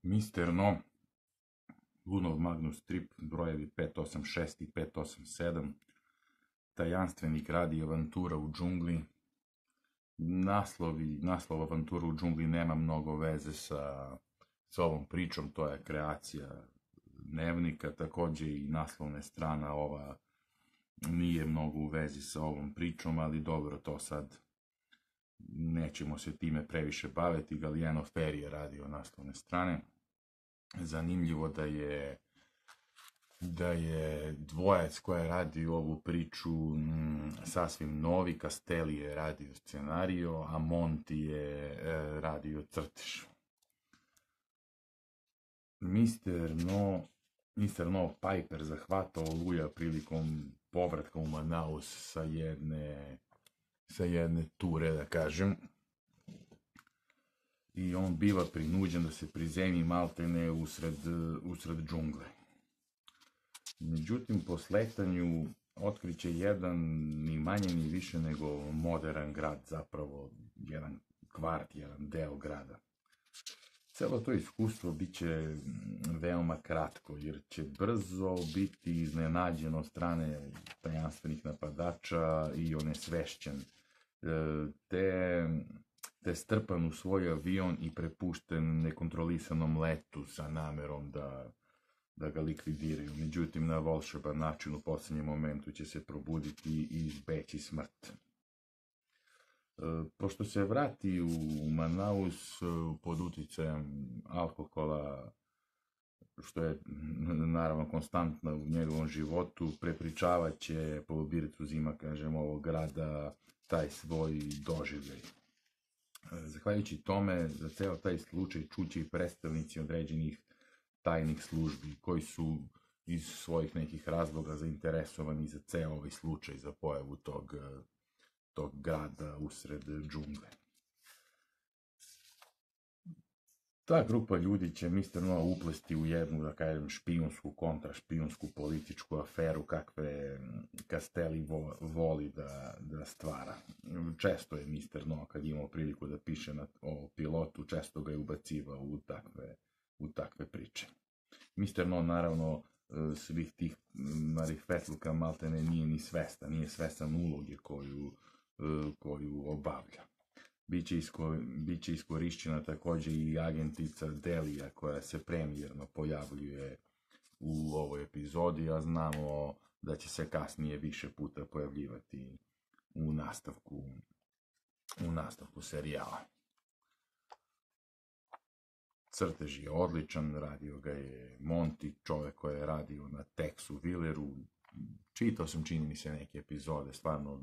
Mister No, Lunov Magnus Trip, brojevi 586 i 587, tajanstveni grad i avantura u džungli. Naslov avantura u džungli nema mnogo veze sa ovom pričom, to je kreacija Dnevnika, također i naslovna strana ova nije mnogo u vezi sa ovom pričom, ali dobro, to sad nećemo se time previše baviti. Galliano Ferri je radio naslovne strane. Zanimljivo da je dvojac koja je radio ovu priču sasvim novi. Castelli je radio scenario, a Monti je radio crtež. Mr. No Piper zahvata Oluja prilikom povratka u Manaus sa jedne ture, da kažem. I on biva prinuđen da se prizemi maltene usred džungle. Međutim, po sletanju otkriće jedan ni manje ni više nego modern grad, zapravo jedan kvart, jedan deo grada. Celo to iskustvo bit će veoma kratko, jer će brzo biti iznenađen od strane tajanstvenih napadača i onesvešćen, te strpan u svoj avion i prepušten nekontrolisanom letu sa namerom da ga likvidiraju. Međutim, na volšeban način u posljednjem momentu će se probuditi i izbeći smrt. Pošto se vrati u Manaus pod uticajem alkohola, što je naravno konstantno u njegovom životu, prepričavat će po bircu zima, kažem, ovog grada taj svoj doživljaj. Zahvaljujući tome, za ceo taj slučaj čuće i predstavnici određenih tajnih službi koji su iz svojih nekih razloga zainteresovani za ceo ovaj slučaj, za pojavu tog grada usred džungle. Ta grupa ljudi će Mr. No uplesti u jednu, da kažem, špijunsku, kontrašpijunsku političku aferu kakve Castelli voli da stvara. Često je Mr. No, kad imao priliku da piše o pilotu, često ga je ubacivao u takve priče. Mr. No, naravno, svih tih marifetluka maltene nije svestan uloge koju obavlja. Biće iskorišćena također i agentica Delija koja se premijerno pojavljuje u ovoj epizodi, a znamo da će se kasnije više puta pojavljivati u nastavku serijala. Crtež je odličan, radio ga je Monti, čovjek koji je radio na Texu Willeru. Čitao sam, čini mi se, neke epizode, stvarno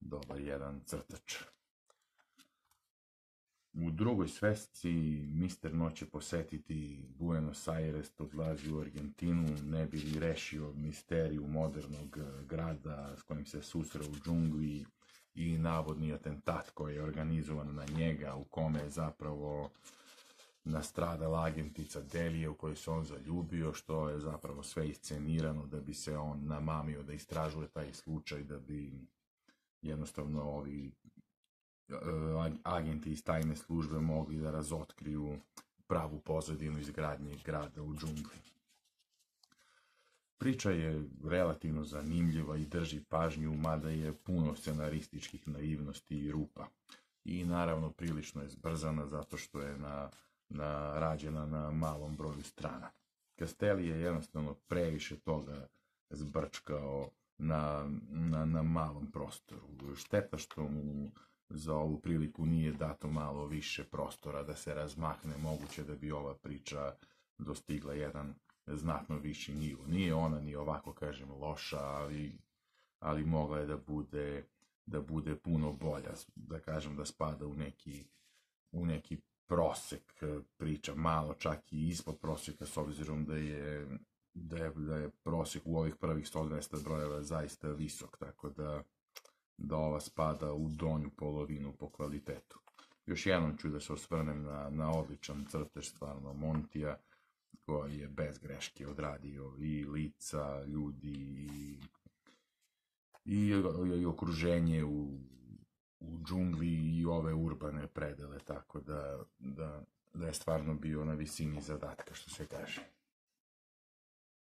dobar jedan crtač. U drugoj svesci Mr. No će posetiti Buenos Aires, odlazi u Argentinu, ne bi li rešio misteriju modernog grada s kojim se susreo u džungli i navodni atentat koji je organizovan na njega, u kome je zapravo nastradala agentica Delije u kojoj se on zaljubio, što je zapravo sve iscenirano da bi se on namamio da istražuje taj slučaj, da bi jednostavno ovi agenti iz tajne službe mogli da razotkriju pravu pozadinu izgradnje grada u džungli. Priča je relativno zanimljiva i drži pažnju, mada je puno scenarističkih naivnosti i rupa. I naravno prilično je zbrzana zato što je rađena na malom broju strana. Castelli je jednostavno previše toga zbrčkao na malom prostoru. Šteta što mu za ovu priliku nije dato malo više prostora da se razmahne, moguće da bi ova priča dostigla jedan znatno viši nivo. Nije ona ni ovako, kažem, loša, ali mogla je da bude puno bolja, da kažem da spada u neki prosek priča, malo čak i ispod prosjeka, s obzirom da je prosjek u ovih prvih 100-200 brojeva zaista visok, tako da ova spada u donju polovinu po kvalitetu. Još jednom ću da se osvrnem na odličan crtež stvarno Montija, koji je bez greške odradio i lica, ljudi i okruženje u džungli i ove urbane predele, tako da da je stvarno bio na visini zadatka, što se kaže.